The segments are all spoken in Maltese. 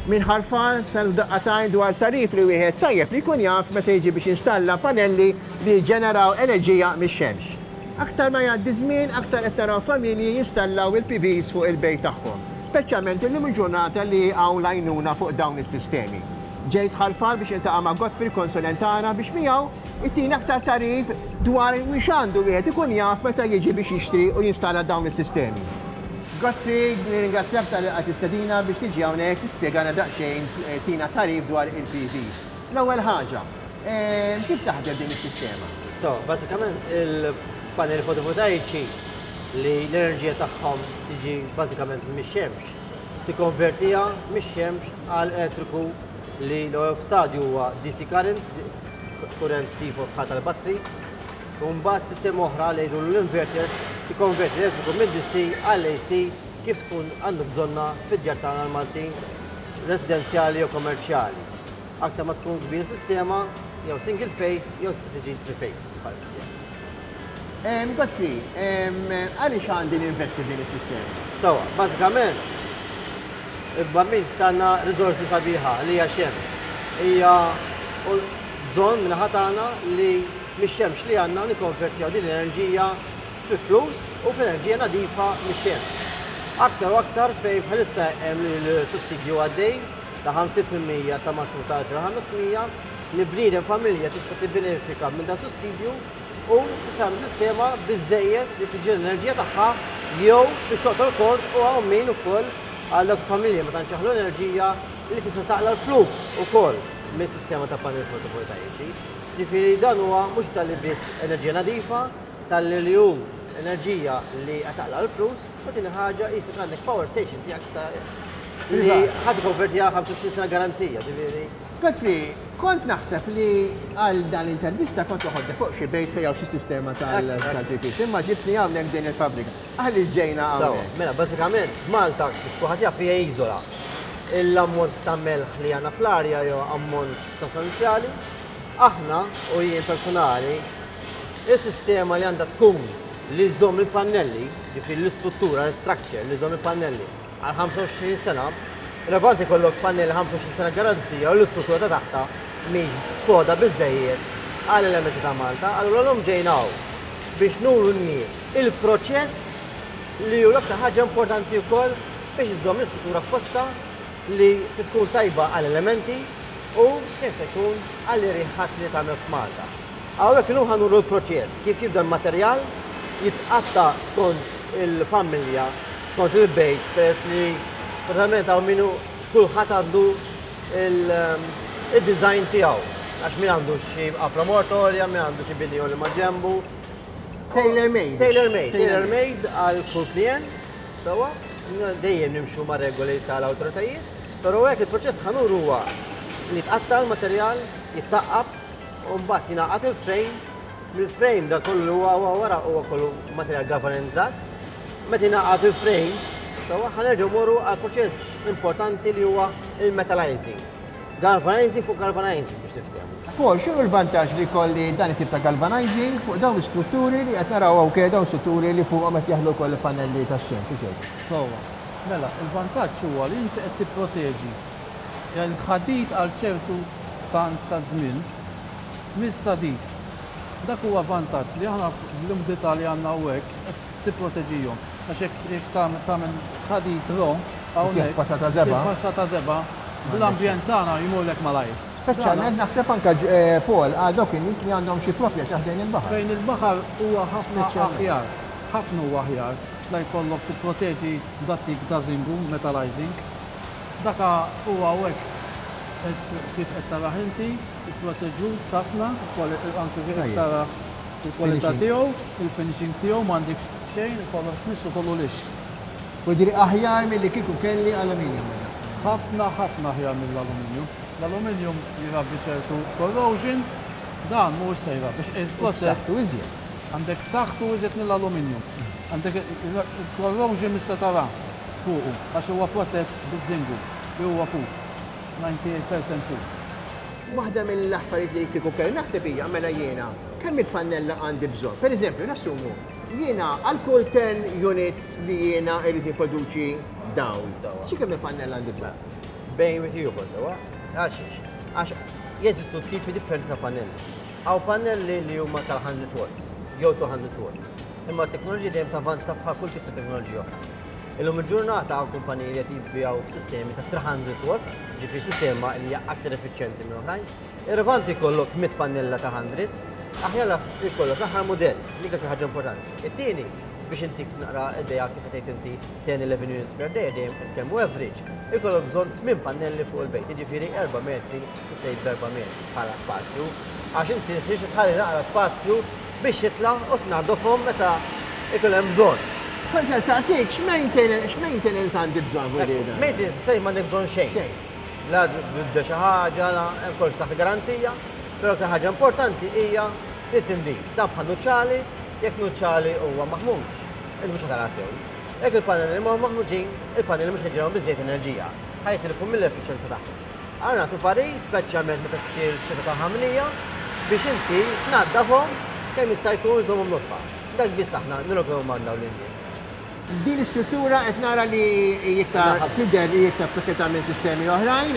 Minn Ħal Far saru daqqa t'għajn dwar tagħrif li wieħed tajjeb li jkun jaf meta jiġi biex jinstalla panelli li jiġġeneraw enerġija mix-xemx. Aktar ma jgħaddi żmien aktar qed naraw familji jinstallaw il-PVs fuq il-bejt tagħhom, speċjalment illum il-ġurnata li hawn l-għajnuna fuq dawn is-sistemi. Ġejt Ħal Far biex niltaqa' ma' Godfrey l-konsulent tagħna biex miegħu jtina aktar tagħrif dwar x'għandu wieħed ikun jaf meta jiġi biex jixtri u jinstalla dawn is-sistemi. Godfrey, nirringrazzjak talli lqajt l-istedina biex tiġi hawnhekk tispjegana daqsxejn, tina tagħrif dwar il-PVs. L-ewwel ħaġa, kif taħdem din is-sistema? So, bażikament il-paneli fotovoltaiċi li l-enerġija tagħhom tiġi bażikament mix-xemx, tikkonvertiha mix-xemx għal elettriku li l-ewwel stadju huwa DC current, kurrent tipo bħal tal-batteries, U mbagħad sistema oħra li jgħidulu l-inverters tikkonverti l-elettriku minn DC għal AC kif tkun għandu bżonnha fid-djar tagħna l-Maltin residenzjali jew kommerċjali. Aktar ma tkun kbira sistema jew single phase jew tista' tiġi three phase bħala sistema. Godfrey, għaliex għandi ninvesti f'din is-sistema? Sewwa, bażikament il-Bambin tana riżorsi sabiħa li hija x-xemx. Hija bżonn min-naħa tagħna li mix-xemx li għandna nikkonvertiha din l-enerġija fi flus u f'enerġija nadifa mix-xemx. Aktar u aktar fejn bħalissa hemm l-sussidju għaddej ta' 50% sa massimu ta' 2500 li bniedem familja tista' tibbenefika minn dan sussidju u tista' tagħmel sistema biżżejjed li tiġġenera l-enerġija tagħha jew biex toqtol kont u hawn min ukoll għal dawk il-familji ma tantx jaħlu enerġija li tista' taqla' l-flus ukoll mis-sistema ta' panel fotovoltaiċi. Ġifieri dan huwa mhux talli biss enerġija nadifa, talli li hu enerġija li qed taqla' l-flus, u tieni ħaġa qisek għandek power station tiegħek sta li ħa tikkonvertiha għal 25 sena garanzija, ġifieri. Godfrey, kont naħseb li għal dan l-intervista kont toħodni fuq xi bejt fejn hawn xi sistema tal-PVC, imma ġibtni hawnhekk din il-fabbrika. Għaliex ġejna hawnhekk? Mela, bażikament, Malta, kif kulħadd jaf, hija iżola. L-ammont ta' melħ li għandna fl-arja jew ammont sostanzjali. Aħna, u jien personali, is-sistema li għandha tkun li żżomm il-pannelli, ġifieri l-istruttura, l-structure li żżomm il-pannelli għal 25 sena, relevanti jkollok pannelli 25 sena garanzija u l-istruttura ta' taħtha mhix soda biżżejjed għal elementi ta' Malta, allura llum ġejna hawn biex nuru n-nies il-proċess li hu l-aktar ħaġa importanti wkoll biex iżżomm l-istruttura f'postha li trid tkun tajba għall-elementi u kemm se jkun għall-irjiħat li tagħmel f'Malta. Hawnhekk illum ħa nuru l-proċess kif jibda l-materjal jitqatta' skont il-familja, skont il-bejt, peress li verament hawn min hu kulħadd għandu il-design tiegħu. Għax min għandu xi qafra mortorja, min għandu xi bini li ma' ġenbu. Tailor made. Tailor made, tailor made għal kull klient. Sewwa, dejjem nimxu mar-regoli tal-awtoritajiet, però hekk il-proċess ħa nuru huwa li jitqatta' l-materjal, jittaqqab u mbagħad jingħaqad il-frame. Mill-frame dan kollu li huwa wara huwa kollu materjal galvanizzat. Meta jingħaqad il-frame, sewwa ħa nerġgħu mmorru għal proċess importanti li huwa il-metallizing. Galvanizing fuq galvanizing biex niftehmu. Paul, x'inhu l-vantaġġ li jkolli dan it-tip ta' galvanizing fuq dawn l-istrutturi li qed naraw hawn dawn strutturi li fuqhom qed jaħlu wkoll il-pannelli tax-xemx u xejn? Sewwa. Mela, il-vantaġġ huwa li inti qed tipproteġi l-ħadid għal ċertu tant ta' żmien mis-sadid. Dak huwa vantaġġ li aħna bl-umdità li għandna hawnhekk qed tipproteġihom. Għax jekk jekk tagħmel ħadid raw hawnhekk. Passata żebgħa. Passata żebgħa, bl-ambjent tagħna jmurlek malajr. Speċjalment naħseb anke Paul għal dawk in-nies li għandhom xi proprjetà ħdejn il-baħar. Fejn il-baħar huwa ħafna aħjar. Ħafna huwa aħjar la jkollok tipproteġi dat-tip ta' żingu, metallizing. Daka huwa hawnhekk kif qed tarah inti, ipproteġut ħafna, anke kif qed tarah il-kwalità tiegħu, il-finishing tiegħu m'għandekx xejn, kollox tmissu kollu lixx. Vuol dire aħjar milli kieku kelli aluminium. Ħafna ħafna aħjar mill-aluminium. L-aluminium jrabbi ċertu corrosion, dan mhuwiex se jrabbi għax il-protett. B'saħħtu iżjed. Għandek b'saħħtu iżjed mill-aluminium. Għandek il-corrosion mhix se tara fuqu għax huwa protett biż-żingu li huwa pur, 98% pur. Waħda mill-affarijiet li kieku kelli naħseb hija mela jiena kemm il-pannella għandi bżonn. Pereżempju, nassumu jiena għal kull 10 units li jiena irrid nipproduċi dawl. Xi kemm il-pannella għandi bżonn? bejn wieħed ieħor sewwa. Għalxiex? Għax jeżistu tipi differenti ta' pannelli. Hawn pannelli li huma tal-100 watts jew 200 watts. Imma t-teknoloġija dejjem tavanza bħal kull tip ta' teknoloġija oħra. Illum il-ġurnata hawn kumpaniji li qed jibbijaw sistemi ta' 300 watts, ġifieri sistema li hija aktar effiċjenti minn oħrajn. Irrilevanti jkollok 100 pannella ta' 100, aħjar jkollok l-aħħar mudell, dik l-aktar ħaġa importanti. It-tieni, biex intik naqra idea kif qed tgħid inti 10 11 units per day dejjem qed nitkellmu average, ikollok bżonn 8 pannelli fuq il-bejt, jiġifieri 4 metri tista' jibda 4 metri bħala spazju, għax inti trid tħalli naqra spazju biex jitla' u tnaddofhom meta jkun hemm bżonn. Kont se nsaqsik x'maintenance għandi bżonn fuq din? Maintenance tista' m'għandek bżonn xejn. Xejn. La tibda xi ħaġa, la hemm kollox taħt garanzija, però l-aktar ħaġa importanti hija li tindif. Dan bħal nuċċali, jekk nuċċali huwa maħmuġ, inti mhux ħa tara sew. Jekk il-pannelli mhuma maħmuġin, il-pannelli mhux ħa jġeneraw biżżejjed enerġija, ħa jitilfu mill-effiċjenza tagħhom. Allura nagħtu parir, speċjalment meta ssir xita ta' ħamrija, biex inti tnaddafhom kemm jista' jkun żommhom nodfa. Dak biss aħna nirrakkomandaw lin-nies. Din l-istruttura qed nara li hi iktar tidher li hi iktar b'saħħitha minn sistemi oħrajn.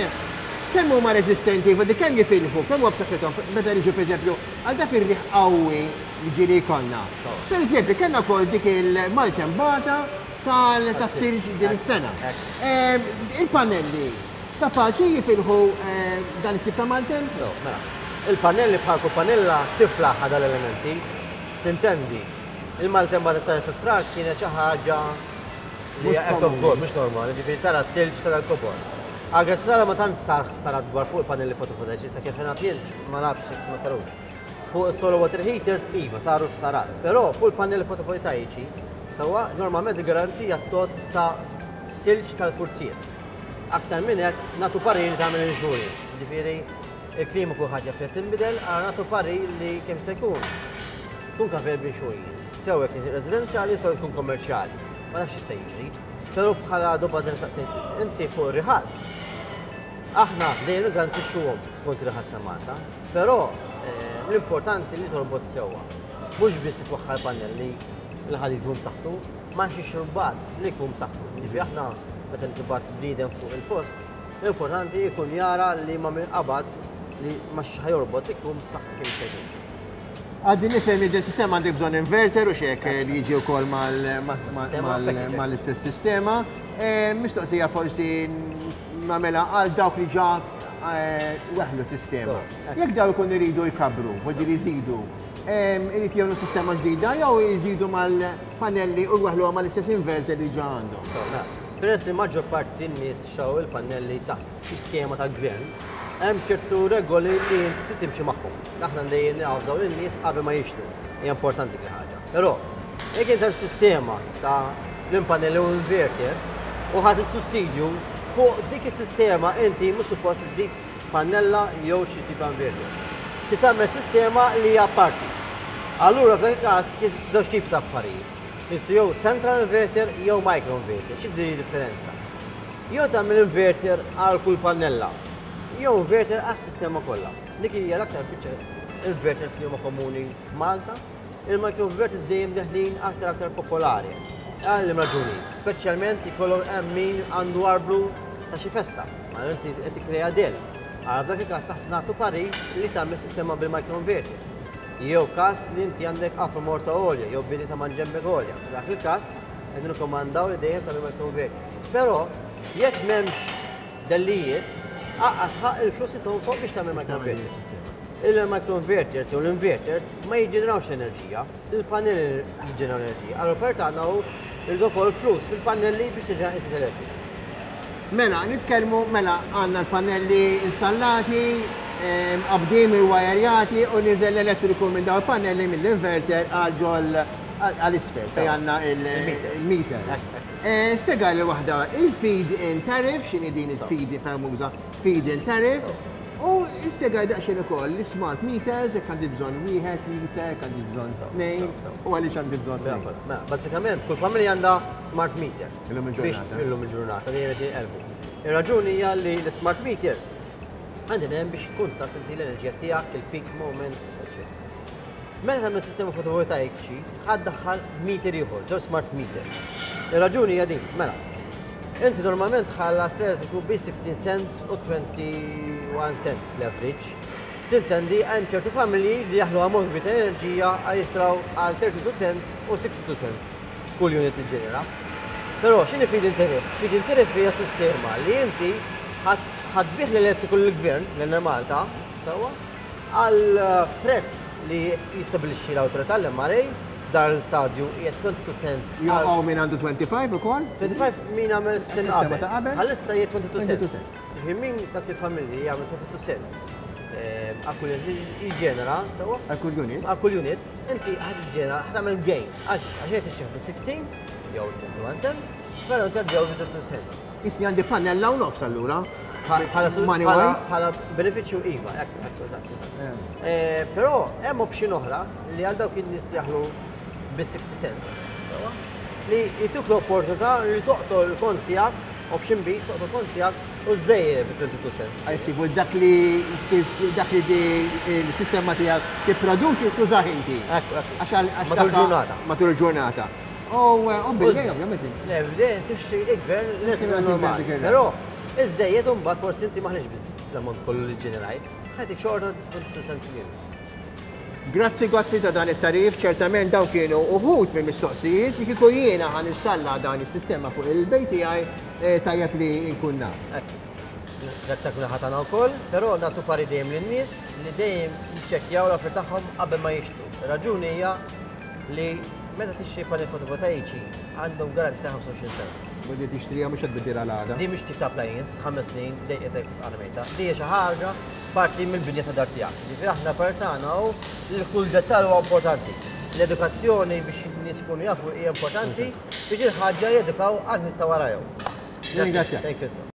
Kemm huma reżistenti, voldie kemm jifilħu, kemm huwa b'saħħithom meta niġu pereżempju għal dak ir-riħ qawwi li ġieli jkollna. Pereżempju kellna wkoll dik il-maltempata tas-silġ din is-sena. Il-pannelli kapaċi jifilħu dan it-tip ta' maltemp? Mela, il-pannelli bħal kull pannella tiflaħ għal dal-elementi. Sintendi, Il-maltempa ta' sar fi Frar kienet xi ħaġa li hija act of God, mhux normali, ġifieri tara silġ ta' dal-kobor. Għal Sara ma tantx sar ħsarat kbar fuq il-pannelli fotovoltaiċi, sa kif naf jien ma nafx jekk ma sarux. Fuq is-solar water heaters iva saru ħsarat, però fuq il-pannelli fotovoltaiċi sewwa normalment il-garanzija tgħodd sa silġ tal-purzier. Aktar minn hekk nagħtu parir li tagħmel insurance, ġifieri il-klima kulħadd jaf li qed tinbidel, allura nagħtu parir li kemm se jkun tkun covered b'insurance, sew jekk residenzjali sew tkun kommerċjali. Ma nafx x'se jiġri. Però bħala domanda li saqsejt inti fuq ir-riħat. Aħna dejjem niggarantixxuhom skont ir-riħat ta' Malta, però eh, l-importanti li torbot sewwa. Mhux biss titwaħħal pannelli l-ħadid jkun b'saħħtu, ma xi xurbat li jkun b'saħħtu. Ġifieri aħna meta nitibgħat bniedem fuq il-post, l-importanti jkun jara li ma minn qabad li ma xi ħajorbot ikun b'saħħtu kemm jista' jkun. Għaddi nifhem li din sistema għandek bżonn inverter u xek li jiġi wkoll mal-istess sistema. Eh, mistoqsija forsi nagħmilha għal dawk li ġa eh, weħlu sistema. Jekk daw ikun iridu jkabru, voldiri jżidu, eh, irid jagħmlu sistema ġdida jew jżidu mal-panelli u jweħluha mal-istess inverter li ġa għandhom. Mela, peress li maġġor parti n-nies xaw il-pannelli taħt xi skema tal-gvern, hemm ċertu regoli li inti trid timxi magħhom. Aħna dejjem navżaw lin-nies qabel ma jixtru. Hija importanti dik il-ħaġa. Però, jekk inti sistema ta' l-impanel u inverter u ħadd is-sussidju fuq dik is-sistema inti mhux suppost iżid pannella jew xi tip ta' inverter. Trid tagħmel sistema li hija parti. Allura f'dak il-każ jeżistu żewġ tipi ta' affarijiet. Jeżistu jew central inverter jew micro inverter. Xi differenza? Jew tagħmel inverter għal kull pannella, jew inverter għas-sistema kollha. Dik hija l-aktar biċċa inverters li huma komuni f'Malta. Il-microinverters dejjem deħlin aktar aktar popolari. Għal raġuni, speċjalment ikollhom hemm min għandu arblu ta' xi festa, ma inti qed tikkrea del. Għal f'dak il-każ taħt nagħtu parir li tagħmel sistema bil-microinverters. Jew każ li inti għandek apra morta għolja jew bini ta' manġembek għolja. F'dak il-każ qed nirrikomandaw li dejjem tagħmel microinverters. Però jekk m'hemmx Dellijiet, aqqas ħaqq il-flus li tonfoq biex tagħmel microinverters. Il-microinverters jew l-inverters ma jiġġenerawx enerġija, il-pannelli jiġġeneraw enerġija. Allura per tagħna hu irridu fuq il-flus fil-pannelli biex tiġġenera iżjed elettriku. Mela, nitkellmu, mela għandna l-pannelli installati, mqabbdin, iwajerjati u niżel l-elettriku minn dawn il-pannelli mill-inverter għal ġol għal isfel fejn għandna il-meter. Spjegali waħda, il-feed-in tariff, x'inhi din il-feed famuża feed-in tariff, u spjegali daqsxejn ukoll l-smart meters, jekk għandi bżonn wieħed meter, jekk għandi bżonn tnejn, u għaliex għandi bżonn tnejn. Mela, bażikament kull familja għandha smart meter. Illum il-ġurnata. Illum il-ġurnata, dejjem qed jinqelbu. Ir-raġuni hija li l-smart meters għandhom hemm biex tkun taf inti l-enerġija tiegħek, il-peak moment, eċċetera. Meta tagħmel sistema fotovoltaiċi, ħa ddaħħal meter ieħor, żewġ smart meters. Ir-raġuni hija din, mela. Inti normalment tħallas l-elettriku bi 16 cents u 21 cents l-average. Sintendi hemm ċertu familji li jaħlu ammont kbir ta' enerġija għal jitraw għal 32 cents u 62 cents kull unit li ġenera. Però x'inhi feed-in tariff? Feed-in tariff hija sistema li inti ħa tbigħ l-elettriku lill-gvern, l-Enemalta, sewwa, għal prezz li jistabilixxi l-awtorità l-MRA, f'dan l-istadju hija 22 cents. Jew hawn min għandu 25 ukoll? 25 min għamel sistema qabel. Bħalissa hija 22 cents. Ġifieri min dak il-familji li jagħmel 22 cents għal kull unit li jiġġenera, sewwa? Għal kull unit. Għal kull unit, inti ħad tiġġenera, ħad tagħmel gain. Għax għax qed tixtrih bi 16 jew 21 cents, però inti qed bi 22 cents. Jisni għandi pannella u nofs allura. Bħala benefiċċju iva, hekk, hekk, eżatt, eżatt. Eh. Eh, però hemm option oħra li għal dawk in-nies li jaħlu bi 60 cents. Li jtuk l-opportunità li toqtol il-kont tiegħek, option B, toqtol kont tiegħek u żejjed bi 22 cents. Għajsibu dak li dak li il-sistema tiegħek tipproduċi tużah inti. Għax matul ġurnata. Matul il-ġurnata. U bil-lejl ovvjament. Le, bil-lejl tixtri il-gvern l normali. Però iż-żejjed imbagħad forsi inti maħniex biss l-ammont kollu li ġenerajt, ħajtik xorta 22 cents unit. Grazzi Godfrey ta' dan it-tagħrif, ċertament dawn kienu uħud minn mistoqsijiet li kieku jiena ħa nistalla dan is-sistema fuq il-bejt tiegħi eh, tajjeb li nkun naf. Grazzi għal kull tagħna wkoll, però nagħtu pari dejjem lin-nies li dejjem jiċċekkjaw l-affarijiet tagħhom qabel ma jixtru. Ir-raġuni hija li meta tixtri panel fotovoltaiċi għandhom garanzija 25 sena. U di tixtriha mhux qed tbiddilha l-għada. Di mhux tip ta' appliance, ħames snin, dejqetek għal Di hija xi ħaġa parti mill-binja ta' dar tiegħek. Ġifieri aħna parti tagħna hu li kull dettall huwa importanti. L-edukazzjoni biex in-nies ikunu jafu hija importanti biex il-ħaġa jedukaw għal nies ta' warajhom. Ringrazzjak. Thank you.